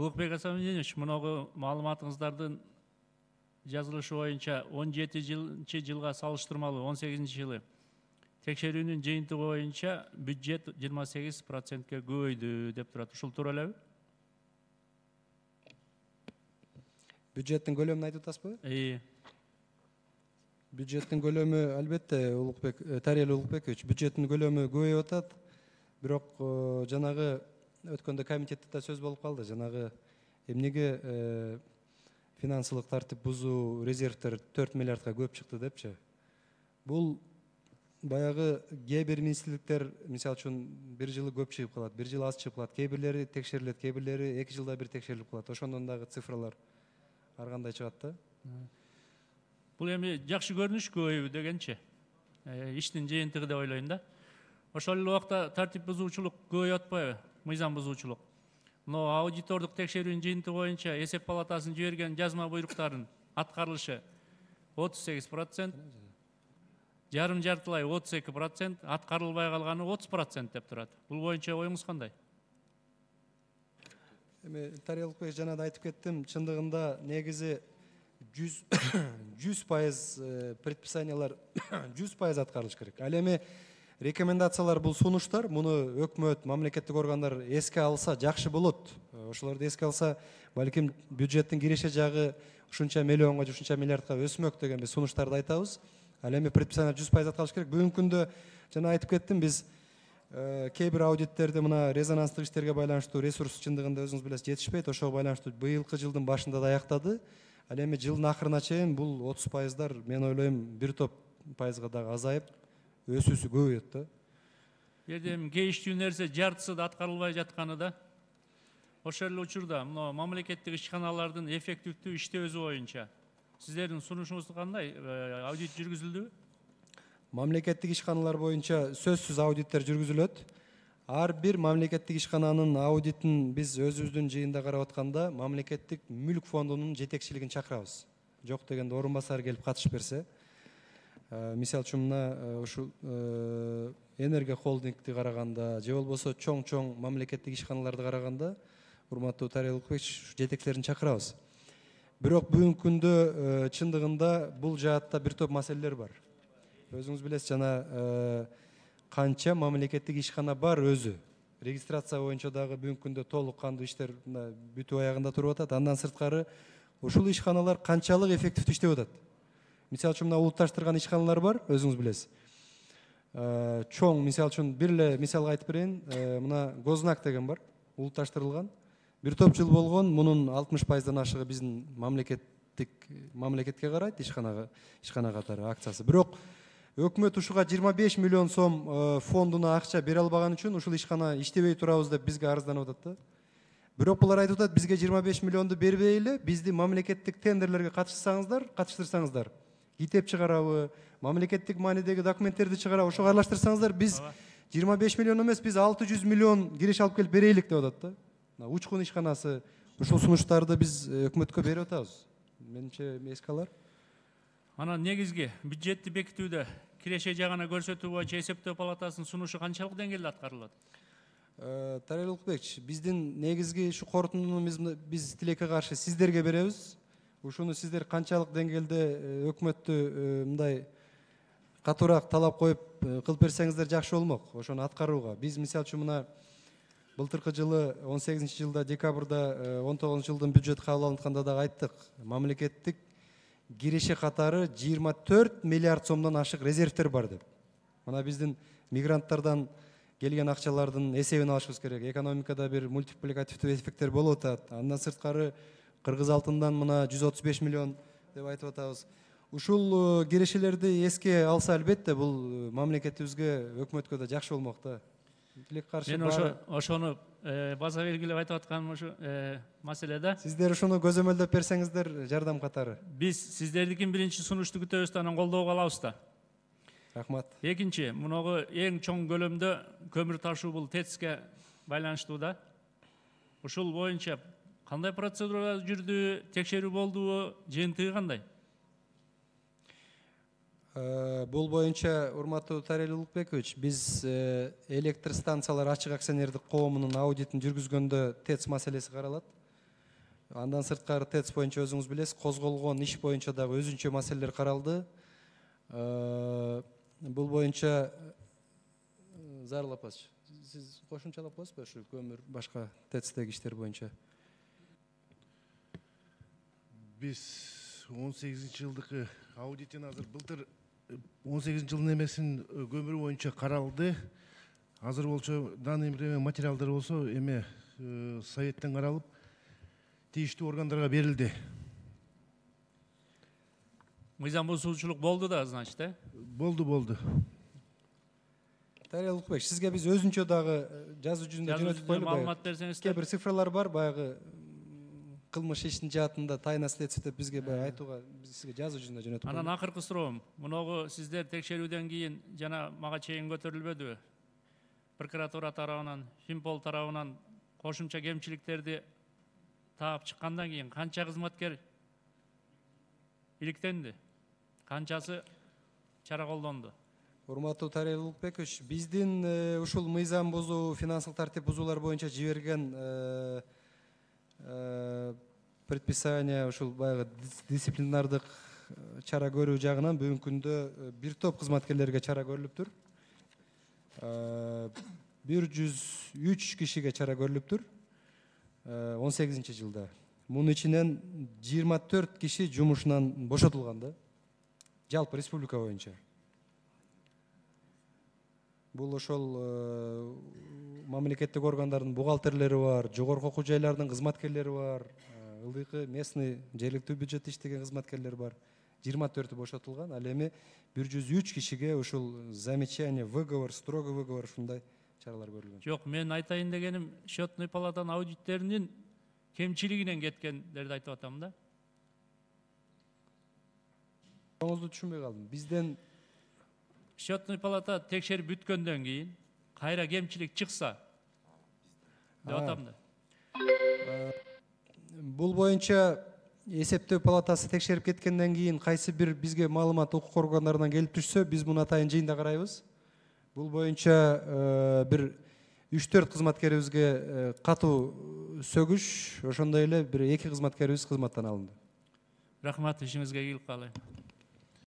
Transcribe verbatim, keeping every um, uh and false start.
Улукбек Асамидинович, муногу маалыматыңыздардын жазылышы боюнча он жетинчи жылга салыштырмалуу он сегизинчи жылы текшерүүнүн жыйынтыгы боюнча бюджет жыйырма сегиз процентке көбөйдү деп турат. Ушул туура элеби? Бюджеттин көлөмүн айтып атасызбы? Ии. Бюджеттин көлөмү албетте Улукбек Тарел Улукбекович, бюджеттин көлөмү көбөйүп атат. Бирок жанагы өткөндө комитетте да сөз болуп калды. Жанагы эмнеге финансылык тартип бузуу резервтер төрт миллиардка көп чыкты депчи. Бул баягы кээ бир министрликтер, мисалы үчүн бир жылы көп чыгып калат, бир жыл аз чыгып калат, кээ бирлери текшерилет, кээ бирлери эки жылда бир текшерилип калат. Ошондон дагы цифралар ар кандай чыгат да. Бул эми жакшы көрүнүш көбөйбү дегенчи. Иштин жыйынтыгы деп ойлойм да. Ошол эле убакта тартип бузуучулук көбөйүп атпайбы? Мыйзам бузуучулук. Мына аудитордук текшерүүнүн жыйынтыгы боюнча эсеп палатасынын жиберген жазма буйруктарын аткарылышы отуз сегиз процент, жарым жартылай отуз эки процент, аткарылбай калганы отуз процент деп турат. Бул боюнча оюңуз кандай? Эми Тарел Улукбек жана да айтып кеттим, чындыгында негизи жүз пайыз предписаниялар жүз пайыз аткарылыш керек. Ал эми рекомендациялар бул сунуштар, муну өкмөт, мамлекеттик органдар эске алса жакшы болот. Ошолорду эске алса, балким бюджеттин киреше жагы ушунча миллионго, ушунча миллиардка өсмөк деген биз сунуштарды айтабыз. Ал эми предписание жүз пайыз аткарылыш керек. Бүгүнкү күндө жана айтып кеттим, биз кээ бир аудиттерде мына резонанстык иштерге байланыштуу ресурс чындыгында өзүңүз билесиз жетишпейт. Ошого байланыштуу быйылкы жылдын башында да аяктады. Ал эми жылдын акырына чейин бул отуз пайыздар, мен ойлойм, бир топ пайызга дагы азайып, өсүүсү көбөйөт да. Жерде кейиштүү нерсе жартысы да аткарылбай жатканы да. Ошол эле учурда мына мамлекеттик ишканалардын эффективдүү иштөөсү боюнча сиздердин сунушуңуз кандай? Аудит жүргүзүлдүбү? Мамлекеттик ишканалар боюнча сөзсүз аудиттер жүргүзүлөт. Ар бир мамлекеттик ишкананын аудитин биз өзүбүздүн жыйында карап атканда мамлекеттик мүлк фондунун жетекчилигин чакырабыз. Жок дегенде орун басары келип катышып берсе. Мисалы үчүн мына ушул Энергия холдингти караганда, же болбосо чоң-чоң мамлекеттик ишканаларды караганда, урматтуу Тарел Улукбекович, жетекчилерин чакырабыз. Бирок бүгүнкү күндө чындыгында бул жаатта бир топ маселелер бар. Өзүңүз билесиз, жана канча мамлекеттик ишкана бар өзү. Регистрация боюнча дагы бүгүнкү күндө толук кандуу иштер бүтүп аягында туруп атат. Андан сырткары ушул ишканалар канчалык эффективдүү иштеп атат. Мисалы үчүн мына улутташтырган ишканалар бар, өзүңүз билесиз. Чоң, мисалы үчүн бир эле мисалга айтып берейин, мына Гознак деген бар, улутташтырылган. Бир топ жыл болгон, мунун алтымыш пайыздан ашыгы биздин мамлекеттик мамлекетке карайт, ишканага, ишкана катары акциясы. Бирок өкмөт ушуга жыйырма беш миллион сом фондуна акча бере албаган үчүн ушул ишкана иштебей турабыз деп бизге арызданып атат да. Бирок булар айтып атат, бизге жыйырма беш миллионду бербей эле, бизди мамлекеттик тендерлерге катышсаңыздар, катыштырсаңыздар, китеп чыгарабы, мамлекеттик маанидеги документтерди чыгарабы, ошого аралаштырсаңыздар, биз жыйырма беш миллион эмес, биз алты жүз миллион киреше алып келип берейлик деп атат да. Учкун ишканасы, ушул сунуштарды биз өкмөткө берип атабыз. Менимче эске алар. Анан негизги бюджетти бекитүүдө киреше жагына көрсөтүү боюнча эсептөө палатасынын сунушу канчалык деңгээлде аткарылат? Тарел Улукбекович, биздин негизги ушу корутундуну биз тилекке каршы сиздерге беребиз. Ушуну сиздер канчалык деңгээлде өкмөттү мындай катуураак талап коюп кылып берсеңиздер жакшы болмок, ошону аткарууга. Биз мисалы үчүн мына былтыркы жылы он сегизинчи жылда декабрда он тогузунчу жылдын бюджет кабыл алынтканда дагы айттык. Мамлекеттик киреше катары жыйырма төрт миллиард сомдон ашык резервтер бар деп. Мына биздин мигранттардан келген акчалардын эсебин алышыбыз керек. Экономикада бир мультипликативдүү эффекттер болуп атат. Андан сырткары кыргыз алтындан мына жүз отуз беш миллион деп айтып атабыз. Ушул кирешелерди эске алса албетте бул мамлекетибизге, өкмөткө да жакшы болмок да. Мен ошо ошону база белгилеп айтып атканым ушу маселеде. Сиздер ушуну көзөмөлдөп берсеңиздер жардам катары. Биз сиздердикин биринчи сунушту күтөбүз да, анан колдоого алабыз да. Рахмат. Экинчи, муногу эң чоң көлөмдө көмүр ташуу бул ТЭЦке байланыштуу да. Ушул боюнча кандай процедура жүрдү, текшерүү болдубу, жыйынтыгы кандай? Бул боюнча, урматтуу Тарел Улукбекович, биз электр станциялар ачык акционердик коомунун аудитин жүргүзгөндө ТЭЦ маселеси каралат. Андан сырткары ТЭЦ боюнча өзүңүз билесиз, козголгон иш боюнча дагы өзүнчө маселелер каралды. Бул боюнча Зарыл апачы, сиз кошумчалап коесузбу ушу көмүр башка ТЭЦтеги иштер боюнча? Биз он сегизинчи жылдыкы аудитин азыр былтыр он сегизинчи жылдын эмесин көмүр боюнча каралды. Азыр болчу данный время материалдар болсо эме советтен каралып тийиштүү органдарга берилди. Мыйзам бузуучулук болду да, значит, э? Болду, болду. Дарья Улукбек, сизге биз өзүнчө дагы жазуу жүзүндө жөнөтүп коелу. Маалымат берсеңиз. Кээ бир цифралар бар, баягы кылмыш ишинин жаатында тайна следствие деп бизге баягы айтууга сизге жазуу жүзүндө жөнөтүп коелу. Анан акыркы суроом, муногу сиздер текшерүүдөн кийин жана мага чейин көтөрүлбөдүбү? Прокуратура тарабынан, Финпол тарабынан кошумча кемчиликтерди таап чыккандан кийин канча кызматкер иликтенди? Канчасы чара колдонду? Урматтуу Тария Улукбекович, биздин ушул мыйзам бузуу, финансылык тартип бузуулар боюнча жиберген предписание ушул баягы дисциплинардык чара көрүү жагынан бүгүнкү күндө бир топ кызматкерлерге чара көрүлүптүр. бир жүз үч кишиге чара көрүлүптүр он сегизинчи жылда. Мунун ичинен жыйырма төрт киши жумушунан бошотулган да. Жалпы республика боюнча. Бул ошол мамлекеттик органдардын бухгалтерлери бар, жогорку окуу жайлардын кызматкерлери бар, ылдыйкы местный жергиликтүү бюджетте иштеген кызматкерлер бар. жыйырма төртү бошотулган. Ал эми бир жүз үч кишиге ушул замечание, выговор, строгий выговор ушундай чаралар көрүлгөн. Жок, мен айтайын дегеним, счетный палатанын аудиттеринин кемчилигинен кеткендерди айтып атам да. Оңузду түшүнбөй калдым. Бизден Счетный палата текшерип бүткөндөн кийин кайра кемчилик чыкса деп атам да. Бул боюнча эсептөө палатасы текшерип кеткенден кийин кайсы бир бизге маалымат укук органдарынан келип түшсө, биз муну атайын жыйында карайбыз. Бул боюнча бир үч төрт кызматкерибизге катуу сөгүш, ошондой эле бир эки кызматкерибиз кызматтан алынды. Рахмат, ишиңизге ийгилик каалайм.